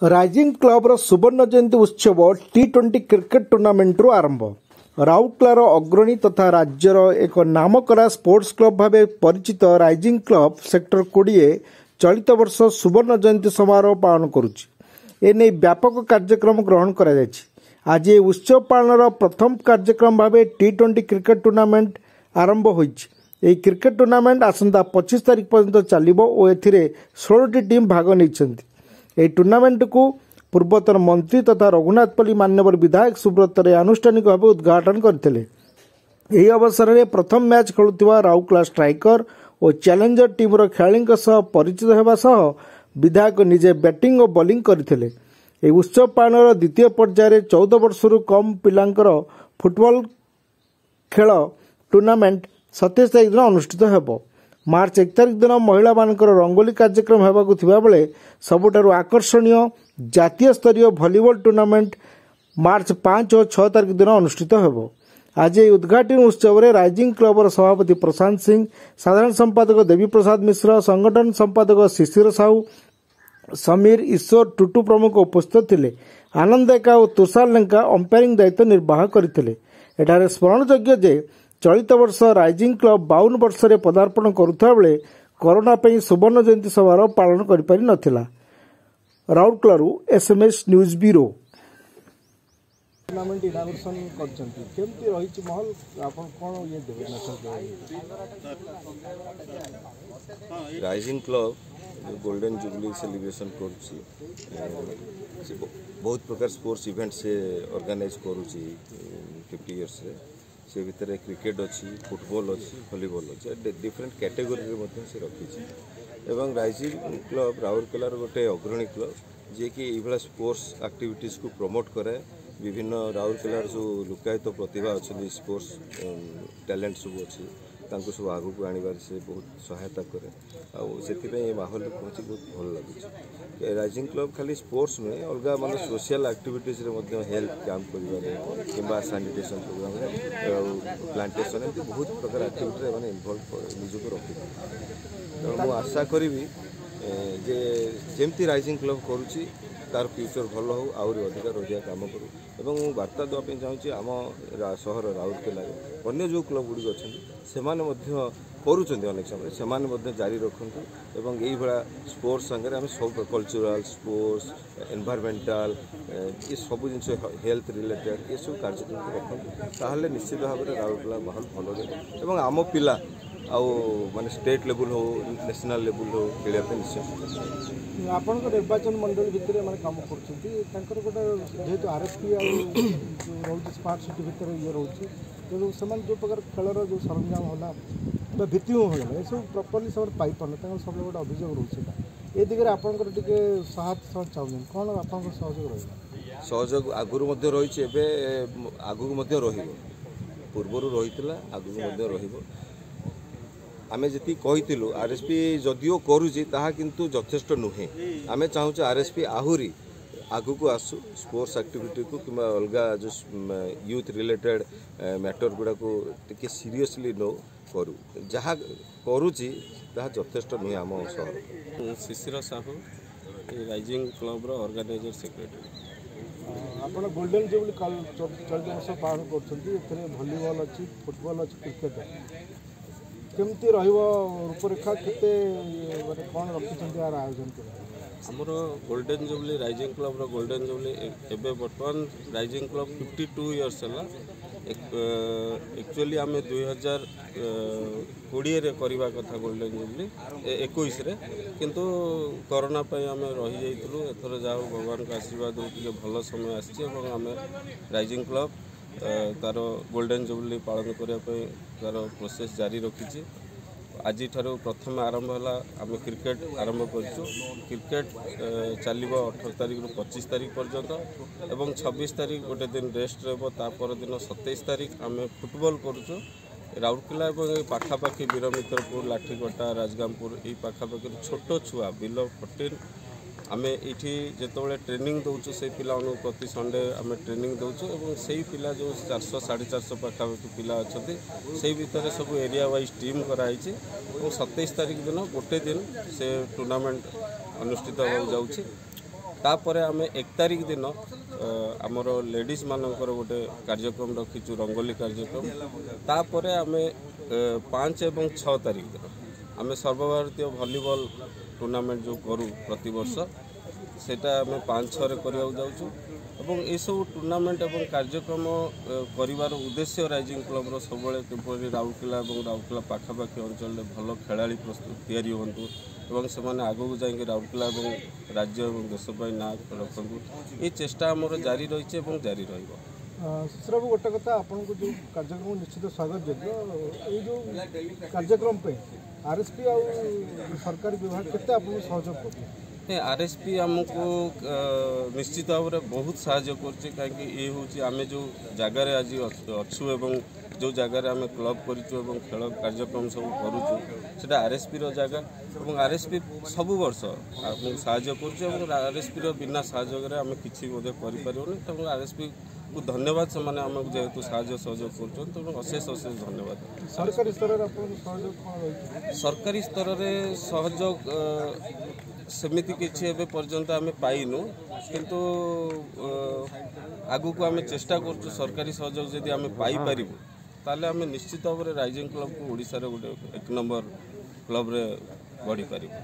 Rising କ୍ଲବର ସୁବର୍ଣ୍ଣ ଜୟନ୍ତୀ ଉତ୍ସବ ଟି-20 କ୍ରିକେଟ ଟୁର୍ଣ୍ଣାମେଣ୍ଟରୁ ଆରମ୍ଭ। ରାଉରକେଲାର ଅଗ୍ରଣୀ ତଥା ରାଜ୍ୟର ଏକ ନାମକରା ସ୍ପୋର୍ଟସ କ୍ଲବ ଭାବେ ପରିଚିତ ରାଇଜିଂ କ୍ଲବ ସେକ୍ଟର 20 ଚଳିତ ବର୍ଷ ସୁବର୍ଣ୍ଣ ଜୟନ୍ତୀ ସମାରୋହ ପାଳନ କରୁଛି। ଏନେଇ ବ୍ୟାପକ କାର୍ଯ୍ୟକ୍ରମ ଗ୍ରହଣ କରାଯାଇଛି। ଆଜି ଏହି ଉତ୍ସବ ପାଳନର ପ୍ରଥମ କାର୍ଯ୍ୟକ୍ରମ ଭାବେ ଟି-20 କ୍ରିକେଟ ଟୁର୍ଣ୍ଣାମେଣ୍ଟ ଆରମ୍ଭ ହୋଇଛି। ଏହି କ୍ରିକେଟ ଟୁର୍ଣ୍ଣାମେଣ୍ଟ ଆସନ୍ତା 25 ତାରିଖ ପର୍ଯ୍ୟନ୍ତ ଚାଲିବ ଓ ଏଥିରେ 16ଟି ଟିମ୍ ଭାଗ ନେଇଛନ୍ତି। ଏହି ଟୁର୍ଣ୍ଣାମେଣ୍ଟକୁ ପୂର୍ବତନ ମନ୍ତ୍ରୀ ତଥା ରଘୁନାଥପଲ୍ଲୀ ମାନ୍ୟବର ବିଧାୟକ ସୁବ୍ରତ ରେ ଆନୁଷ୍ଠାନିକ ଭାବେ ଉଦ୍ଘାଟନ କରିଥିଲେ। ଏହି ଅବସରରେ ପ୍ରଥମ ମ୍ୟାଚ୍ ଖେଳୁଥିବା ରାଉରକେଲା ଷ୍ଟ୍ରାଇକର ଓ ଚ୍ୟାଲେଞ୍ଜର ଟିମ୍ର ଖେଳାଳିଙ୍କ ସହ ପରିଚିତ ହେବା ସହ ବିଧାୟକ ନିଜେ ବ୍ୟାଟିଂ ଓ ବୋଲିଂ କରିଥିଲେ। ଏହି ଉତ୍ସବ ପାଳନର ଦ୍ୱିତୀୟ ପର୍ଯ୍ୟାୟରେ 14 ବର୍ଷରୁ କମ୍ ପିଲାଙ୍କର ଫୁଟବଲ ଖେଳ ଟୁର୍ଣ୍ଣାମେଣ୍ଟ 27 ତାରିଖ ଦିନ ଅନୁଷ୍ଠିତ ହେବ। ମାର୍ଚ୍ଚ 1 ତାରିଖ ଦିନ ମହିଳାମାନଙ୍କର ରଙ୍ଗୋଲି କାର୍ଯ୍ୟକ୍ରମ ହେବାକୁ ଥିବାବେଳେ ସବୁଠାରୁ ଆକର୍ଷଣୀୟ ଜାତୀୟ ସ୍ତରୀୟ ଭଲିବଲ ଟୁର୍ଣ୍ଣାମେଣ୍ଟ ମାର୍ଚ୍ଚ 5 ଓ 6 ତାରିଖ ଦିନ ଅନୁଷ୍ଠିତ ହେବ। ଆଜି ଏହି ଉଦ୍ଘାଟନୀ ଉତ୍ସବରେ ରାଇଜିଂ କ୍ଲବର ସଭାପତି ପ୍ରଶାନ୍ତ ସିଂ, ସାଧାରଣ ସମ୍ପାଦକ ଦେବୀପ୍ରସାଦ ମିଶ୍ର, ସଂଗଠନ ସମ୍ପାଦକ ଶିଶିର ସାହୁ, ସମୀର, ଈଶ୍ୱର, ଟୁଟୁ ପ୍ରମୁଖ ଉପସ୍ଥିତ ଥିଲେ। ଆନନ୍ଦ ଏକା ଓ ତୁଷାର ଲେଙ୍କା ଅମ୍ପାୟାରିଂ ଦାୟିତ୍ୱ ନିର୍ବାହ କରିଥିଲେ। ଏଠାରେ ସ୍ମରଣଯୋଗ୍ୟ ଯେ ଚଳିତ ବର୍ଷ ରାଇଜିଂ କ୍ଲବ 52 ବର୍ଷରେ ପଦାର୍ପଣ କରୁଥିବା ବେଳେ କରୋନା ପାଇଁ ସୁବର୍ଣ୍ଣ ଜୟନ୍ତୀ ସମାରୋହ ପାଳନ କରିପାରି ନଥିଲା। ରାଉରକେଲାରୁ SMS news bureau. Tournament inauguration କରିଛନ୍ତି, କେମିତି ରହିଛି ମହଲ, ଆପଣ କ'ଣ ଇଏ ଦେବେ ମେସେଜ ଦେବେ? Rising club golden jubilee celebration କରୁଛି। ସେ ବହୁତ ପ୍ରକାର ସ୍ପୋର୍ଟସ୍ ଇଭେଣ୍ଟ ସେ ଅର୍ଗାନାଇଜ୍ କରୁଛି 50 ଇୟର୍ସରେ। ସେ ଭିତରେ କ୍ରିକେଟ୍ ଅଛି, ଫୁଟବଲ୍ ଅଛି, ଭଲିବଲ୍ ଅଛି, ଡିଫରେଣ୍ଟ କ୍ୟାଟେଗୋରୀରେ ମଧ୍ୟ ସେ ରଖିଛି। ଏବଂ ରାଇଜିଂ କ୍ଲବ ରାଉରକେଲାର ଗୋଟେ ଅଗ୍ରଣୀ କ୍ଲବ, ଯିଏକି ଏଇଭଳିଆ ସ୍ପୋର୍ଟସ୍ ଆକ୍ଟିଭିଟିଜ୍କୁ ପ୍ରମୋଟ୍ କରେ। ବିଭିନ୍ନ ରାଉରକେଲାର ଯେଉଁ ଲୁକାୟିତ ପ୍ରତିଭା ଅଛନ୍ତି, ସ୍ପୋର୍ଟସ୍ ଟ୍ୟାଲେଣ୍ଟ ସବୁ ଅଛି, ତାଙ୍କୁ ସବୁ ଆଗକୁ ଆଣିବାରେ ସେ ବହୁତ ସହାୟତା କରେ। ଆଉ ସେଥିପାଇଁ ଏ ମାହୋଲରେ ପହଞ୍ଚି ବହୁତ ଭଲ ଲାଗୁଛି। ରାଇଜିଂ କ୍ଲବ ଖାଲି ସ୍ପୋର୍ଟସ୍ ନୁହେଁ, ଅଲଗା ମାନେ ସୋସିଆଲ ଆକ୍ଟିଭିଟିଜ୍ରେ ମଧ୍ୟ, ହେଲ୍ଥ କ୍ୟାମ୍ପ କରିବାରେ କିମ୍ବା ସାନିଟେସନ୍ ପ୍ରୋଗ୍ରାମରେ ଆଉ ପ୍ଲାଣ୍ଟେସନ୍, ଏମିତି ବହୁତ ପ୍ରକାର ଆକ୍ଟିଭିଟିରେ ଏମାନେ ଇନଭଲ୍ଭ ନିଜକୁ ରଖିଥାନ୍ତି। ତେଣୁ ମୁଁ ଆଶା କରିବି ଯେ ଯେମିତି ରାଇଜିଂ କ୍ଲବ କରୁଛି, ତାର ଫ୍ୟୁଚର୍ ଭଲ ହେଉ, ଆହୁରି ଅଧିକାରୁ ଅଧିକା କାମ କରୁ। ଏବଂ ମୁଁ ବାର୍ତ୍ତା ଦେବା ପାଇଁ ଚାହୁଁଛି, ଆମ ସହର ରାଉରକେଲାରେ ଅନ୍ୟ ଯେଉଁ କ୍ଲବ ଗୁଡ଼ିକ ଅଛନ୍ତି, ସେମାନେ ମଧ୍ୟ କରୁଛନ୍ତି ଅନେକ ସମୟରେ, ସେମାନେ ମଧ୍ୟ ଜାରି ରଖନ୍ତୁ। ଏବଂ ଏଇଭଳିଆ ସ୍ପୋର୍ଟସ୍ ସାଙ୍ଗରେ ଆମେ ସବୁ କଲଚରାଲ୍, ସ୍ପୋର୍ଟସ୍, ଏନଭାଇରମେଣ୍ଟାଲ, ଏ ସବୁ ଜିନିଷ, ହେଲ୍ଥ ରିଲେଟେଡ୍ ଏସବୁ କାର୍ଯ୍ୟକ୍ରମକୁ ରଖନ୍ତୁ। ତାହେଲେ ନିଶ୍ଚିତ ଭାବରେ ରାଉରକେଲା ମାହୋଲ ଭଲ ରହିବ ଏବଂ ଆମ ପିଲା ଆଉ ମାନେ ଷ୍ଟେଟ୍ ଲେବୁଲ୍ ହଉ, ନ୍ୟାସନାଲ୍ ଲେବୁଲ୍ ହଉ, ଖେଳିବା ପାଇଁ ନିଶ୍ଚୟ ସୁଯୋଗ ପାଇବେ। ଆପଣଙ୍କ ନିର୍ବାଚନ ମଣ୍ଡଳୀ ଭିତରେ ମାନେ କାମ କରୁଛନ୍ତି, ତାଙ୍କର ଗୋଟେ ଯେହେତୁ ଆର୍ଏସ୍ପି ଆଉ ଯେଉଁ ରହୁଛି ସ୍ମାର୍ଟ ସିଟି ଭିତରେ ଇଏ ରହୁଛି, ତେଣୁ ସେମାନେ ଯେଉଁ ପ୍ରକାର ଖେଳର ଯେଉଁ ସରଞ୍ଜାମ ହେଲା ବା ଭିତ୍ତିଭୂମି ହେଇଗଲା, ଏସବୁ ପ୍ରପରଲି ସେମାନେ ପାଇପାରୁନାହାନ୍ତି। ତାଙ୍କର ସବୁବେଳେ ଗୋଟେ ଅଭିଯୋଗ ରହୁଛି ସେଇଟା। ଏ ଦିଗରେ ଆପଣଙ୍କର ଟିକେ ସହାୟତା ସେମାନେ ଚାହୁଁଛନ୍ତି, କ'ଣ ଆପଣଙ୍କର ସହଯୋଗ ରହିବ? ସହଯୋଗ ଆଗରୁ ମଧ୍ୟ ରହିଛି, ଏବେ ଆଗକୁ ମଧ୍ୟ ରହିବ। ପୂର୍ବରୁ ରହିଥିଲା, ଆଗକୁ ମଧ୍ୟ ରହିବ। ଆମେ ଯେତିକି କହିଥିଲୁ, ଆର୍ଏସ୍ପି ଯଦିଓ କରୁଛି, ତାହା କିନ୍ତୁ ଯଥେଷ୍ଟ ନୁହେଁ। ଆମେ ଚାହୁଁଛୁ ଆର୍ଏସ୍ପି ଆହୁରି ଆଗକୁ ଆସୁ, ସ୍ପୋର୍ଟସ୍ ଆକ୍ଟିଭିଟିକୁ କିମ୍ବା ଅଲଗା ଯେଉଁ ୟୁଥ୍ ରିଲେଟେଡ୍ ମ୍ୟାଟର୍ ଗୁଡ଼ାକୁ ଟିକେ ସିରିୟସଲି ନେଉ, କରୁ। ଯାହା କରୁଛି ତାହା ଯଥେଷ୍ଟ ନୁହେଁ ଆମ ସହର। ମୁଁ ଶିଶିର ସାହୁ, ରାଇଜିଂ କ୍ଲବର ଅର୍ଗାନାଇଜର ସେକ୍ରେଟାରୀ। ଆପଣ ଗୋଲ୍ଡେନ୍ ଜୁବଲି ଚଳିତ ବର୍ଷ ପାଳନ କରୁଛନ୍ତି। ଏଥିରେ ଭଲିବଲ୍ ଅଛି, ଫୁଟବଲ୍ ଅଛି, କ୍ରିକେଟ୍ ଅଛି। କେମିତି ରହିବ ରୂପରେଖା, କେତେ ମାନେ କ'ଣ ରଖିଛନ୍ତି ଏହାର ଆୟୋଜନ କରି? ଆମର ଗୋଲ୍ଡେନ୍ ଜୁବଲି, ରାଇଜିଂ କ୍ଲବର ଗୋଲ୍ଡେନ୍ ଜୁବଲି, ଏବେ ବର୍ତ୍ତମାନ ରାଇଜିଂ କ୍ଲବ 52 ଇୟର୍ସ ହେଲା। ଆକ୍ଚୁଆଲି ଆମେ 2020ରେ କରିବା କଥା ଗୋଲ୍ଡେନ୍ ଜୁବଲି, 21ରେ, କିନ୍ତୁ କରୋନା ପାଇଁ ଆମେ ରହିଯାଇଥିଲୁ। ଏଥର ଯାହା ହଉ ଭଗବାନଙ୍କ ଆଶୀର୍ବାଦରୁ ଟିକେ ଭଲ ସମୟ ଆସିଛି ଏବଂ ଆମେ ରାଇଜିଂ କ୍ଲବ ତାର ଗୋଲ୍ଡେନ୍ ଜୁବଲି ପାଳନ କରିବା ପାଇଁ ତାର ପ୍ରୋସେସ୍ ଜାରି ରଖିଛି। ଆଜିଠାରୁ ପ୍ରଥମେ ଆରମ୍ଭ ହେଲା, ଆମେ କ୍ରିକେଟ ଆରମ୍ଭ କରିଛୁ। କ୍ରିକେଟ ଚାଲିବ 18 ତାରିଖରୁ 25 ତାରିଖ ପର୍ଯ୍ୟନ୍ତ ଏବଂ 26 ତାରିଖ ଗୋଟେ ଦିନ ରେଷ୍ଟ ରହିବ। ତା ପରଦିନ 27 ତାରିଖ ଆମେ ଫୁଟବଲ କରୁଛୁ। ରାଉରକେଲା ଏବଂ ଏ ପାଖାପାଖି ବୀରମିତ୍ରପୁର, ଲାଠିକଟା, ରାଜଗାଙ୍ଗପୁର, ଏଇ ପାଖାପାଖିରୁ ଛୋଟ ଛୁଆ ବିଲୋ 14, ଆମେ ଏଇଠି ଯେତେବେଳେ ଟ୍ରେନିଂ ଦେଉଛୁ, ସେଇ ପିଲାମାନଙ୍କୁ ପ୍ରତି ସଣ୍ଡେ ଆମେ ଟ୍ରେନିଂ ଦେଉଛୁ। ଏବଂ ସେଇ ପିଲା ଯେଉଁ 400, 450 ପାଖାପାଖି ପିଲା ଅଛନ୍ତି, ସେଇ ଭିତରେ ସବୁ ଏରିଆ ୱାଇଜ୍ ଟିମ୍ କରାହେଇଛି ଏବଂ 27 ତାରିଖ ଦିନ ଗୋଟେ ଦିନ ସେ ଟୁର୍ଣ୍ଣାମେଣ୍ଟ ଅନୁଷ୍ଠିତ ହେବାକୁ ଯାଉଛି। ତାପରେ ଆମେ 1 ତାରିଖ ଦିନ ଆମର ଲେଡ଼ିଜ୍ ମାନଙ୍କର ଗୋଟେ କାର୍ଯ୍ୟକ୍ରମ ରଖିଛୁ, ରଙ୍ଗୋଲି କାର୍ଯ୍ୟକ୍ରମ। ତାପରେ ଆମେ 5 ଏବଂ 6 ତାରିଖ ଦିନ ଆମେ ସର୍ବଭାରତୀୟ ଭଲିବଲ ଟୁର୍ଣ୍ଣାମେଣ୍ଟ ଯେଉଁ କରୁ ପ୍ରତିବର୍ଷ, ସେଇଟା ଆମେ 5 6ରେ କରିବାକୁ ଯାଉଛୁ। ଏବଂ ଏସବୁ ଟୁର୍ଣ୍ଣାମେଣ୍ଟ ଏବଂ କାର୍ଯ୍ୟକ୍ରମ କରିବାର ଉଦ୍ଦେଶ୍ୟ ରାଇଜିଂ କ୍ଲବ୍ର ସବୁବେଳେ କିପରି ରାଉରକେଲା ଏବଂ ରାଉରକେଲା ପାଖାପାଖି ଅଞ୍ଚଳରେ ଭଲ ଖେଳାଳି ପ୍ରସ୍ତୁତ ତିଆରି ହୁଅନ୍ତୁ ଏବଂ ସେମାନେ ଆଗକୁ ଯାଇକି ରାଉରକେଲା ଏବଂ ରାଜ୍ୟ ଏବଂ ଦେଶ ପାଇଁ ନାଁ ରଖନ୍ତୁ, ଏ ଚେଷ୍ଟା ଆମର ଜାରି ରହିଛି ଏବଂ ଜାରି ରହିବ। ଶିଶିର ବାବୁ, ଗୋଟେ କଥା, ଆପଣଙ୍କୁ ଯେଉଁ କାର୍ଯ୍ୟକ୍ରମ ନିଶ୍ଚିତ ସ୍ୱାଗତ ଯୋଗ୍ୟ, ଏଇ ଯେଉଁ କାର୍ଯ୍ୟକ୍ରମ ପାଇଁ ଆର୍ଏସ୍ପି ଆଉ ସରକାରୀ ବିଭାଗ କେତେ ଆପଣଙ୍କୁ ସହଯୋଗ କରୁଛି? ଆର୍ଏସ୍ପି ଆମକୁ ନିଶ୍ଚିତ ଭାବରେ ବହୁତ ସାହାଯ୍ୟ କରୁଛି, କାହିଁକି ଇଏ ହେଉଛି ଆମେ ଯେଉଁ ଜାଗାରେ ଆଜି ଅଛୁ ଏବଂ ଯେଉଁ ଜାଗାରେ ଆମେ କ୍ଲବ୍ କରିଛୁ ଏବଂ ଖେଳ କାର୍ଯ୍ୟକ୍ରମ ସବୁ କରୁଛୁ, ସେଇଟା ଆର୍ଏସ୍ପିର ଜାଗା ଏବଂ ଆର୍ଏସ୍ପି ସବୁ ବର୍ଷ ଆମକୁ ସାହାଯ୍ୟ କରୁଛି ଏବଂ ଆର୍ଏସ୍ପିର ବିନା ସହଯୋଗରେ ଆମେ କିଛି ମଧ୍ୟ କରିପାରିବୁନି। ତେଣୁ ଆର୍ଏସ୍ପିକୁ ଧନ୍ୟବାଦ, ସେମାନେ ଆମକୁ ଯେହେତୁ ସାହାଯ୍ୟ ସହଯୋଗ କରୁଛନ୍ତି, ତେଣୁ ଅଶେଷ ଅଶେଷ ଧନ୍ୟବାଦ। ସରକାରୀ ସ୍ତରରେ ଆପଣଙ୍କ ସହଯୋଗ କ'ଣ ରହିଛି? ସରକାରୀ ସ୍ତରରେ ସହଯୋଗ ସେମିତି କିଛି ଏବେ ପର୍ଯ୍ୟନ୍ତ ଆମେ ପାଇନୁ, କିନ୍ତୁ ଆଗକୁ ଆମେ ଚେଷ୍ଟା କରୁଛୁ ସରକାରୀ ସହଯୋଗ ଯଦି ଆମେ ପାଇପାରିବୁ ତାହେଲେ ଆମେ ନିଶ୍ଚିତ ଭାବରେ ରାଇଜିଂ କ୍ଲବ୍କୁ ଓଡ଼ିଶାର ଗୋଟେ 1 ନମ୍ବର କ୍ଲବ୍ରେ ଗଢ଼ିପାରିବୁ।